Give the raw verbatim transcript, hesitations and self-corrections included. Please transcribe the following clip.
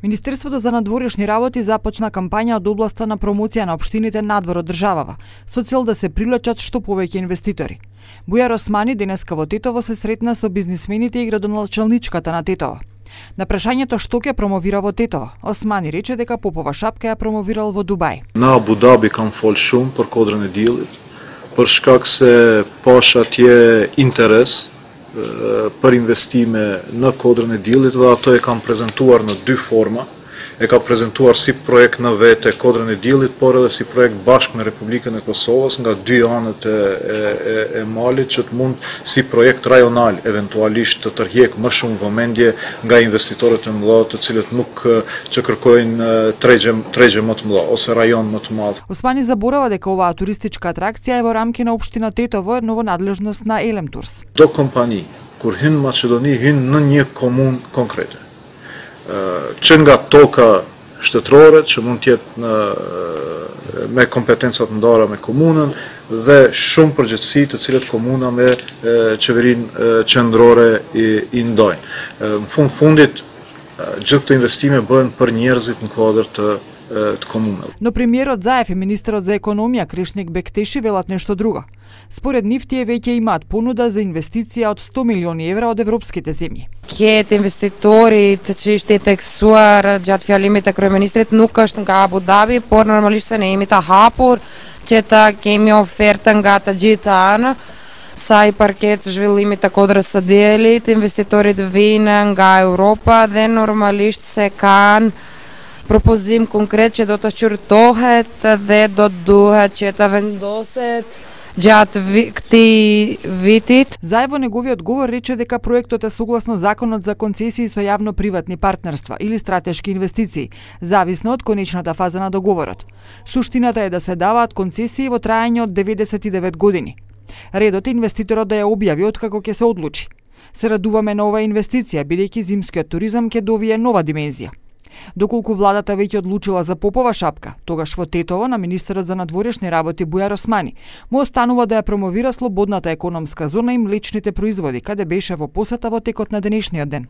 Министерството за надворешни работи започна кампања од областа на промоција на општините надвор од државава, со цел да се привлечат што повеќе инвеститори. Бујар Османи денеска во Тетово се сретна со бизнисмените и градоначалничката на Тетово. На прашањето што ќе промовира во Тетово, Османи рече дека Попова шапка ја промовирал во Дубај. На Абу Даби кам фол шум për kodrën e diellit, për shkak se pash atje interes për investime në kodrën e diellit dhe ato e kam prezantuar në dy forma. E ka prezantuar si projekt në vete kodrën e diellit, por edhe si projekt bashkë me Republikën e Kosovës nga dy anët e, e, e malit, që të mund si projekt rajonal eventualisht të tërheq më shumë vëmendje nga investitorët e mëdha, të cilët nuk që kërkojnë tregje tregje më të mëdha ose rajon më të madh. Османи заборава дека оваа туристичка атракција е во рамки на општина Тетово, но во надлежност на Elem Tours. Do kompani kur hyn në Maqedoni hyn në një komunë konkrete. Që nga toka shtetërore, që mund të jetë në, me kompetencat ndara me komunën dhe shumë përgjegjësi të cilët komuna me qeverinë qendrore i, i ndajnë. Në fund fundit, gjithë këto investime bëhen për njerëzit në kuadër të të komunave. Но премиерот Заев и министерот за економија Кришник Бектеши велат нешто друго. Според нив тие веќе имаат понуда за инвестиција од сто милиони евра од европските земји. Ket investitorit që ishte i theksuar gjatë fjalimit të kryeministrit nuk është nga Abu Dhabi, por normalisht se ne jemi të hapur që të kemi ofertë nga të gjitha anë. Sa i përket zhvillimit të kodrës së diellit, investitorit vinë nga Europa dhe normalisht se kanë propozim konkret që do të qyrtohet dhe do të duhet që të vendoset gjatë vi, këtij vitit. Заев во неговиот говор рече дека проектот е согласно Законот за концесии со јавно-приватни партнерства или стратешки инвестиции, зависно од конечната фаза на договорот. Суштината е да се даваат концесии во траење од деветдесет и девет години. Редот е инвеститорот да ја објави откако ќе се одлучи. Се радуваме на оваа инвестиција, бидејќи зимскиот туризам ќе довие нова димензија. Доколку владата веќе одлучила за Попова шапка, тогаш во Тетово на министерот за надворешни работи Бујар Османи му останува да ја промовира слободната економска зона и млечните производи, каде беше во посета во текот на денешниот ден.